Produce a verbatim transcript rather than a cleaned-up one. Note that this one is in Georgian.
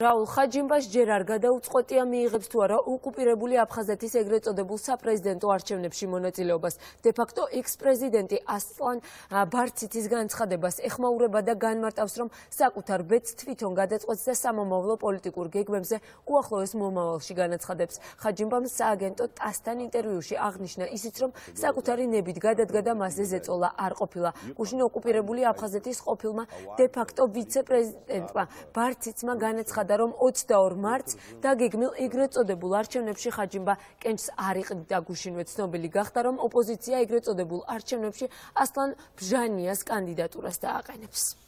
რაულ ხაჯიმბას ჯერ არ გადაუწყვეტია მიიღებს თუ არა ოკუპირებული აფხაზეთის ეგრეთ წოდებულ საპრეზიდენტო არჩევნებში მონაწილეობას. დე-ფაქტო ექს-პრეზიდენტი ასლან ბარციცის განცხადებას ეხმაურება და განმარტავს, რომ საკუთარ ბედს თვითონ გადაწყვეტს და სამომავლო პოლიტიკურ გეგმებზე უახლოეს მომავალში განაცხადებს. ხაჯიმბამ სააგენტო ტასთან ინტერვიუში აღნიშნა ისიც, რომ საკუთარი ნებით გადადგა და მასზე ზეწოლა არ ყოფილა. გუშინ ოკუპირებული აფხაზეთის ყოფილმა დე-ფაქტო ვიცე-პრეზიდენტმა ბარციცმა განაცხადა, რომ ოცდაორ მარტს დაგეგმილ ეგრეთ წოდებულ არჩევნებში ხაჯიმბა კენჭს არ იყრიდა. გუშინვე ცნობილი გახდა, რომ ოპოზიცია ეგრეთ წოდებულ არჩევნებში ასლან ბჟანიას კანდიდატურას დააყენებს.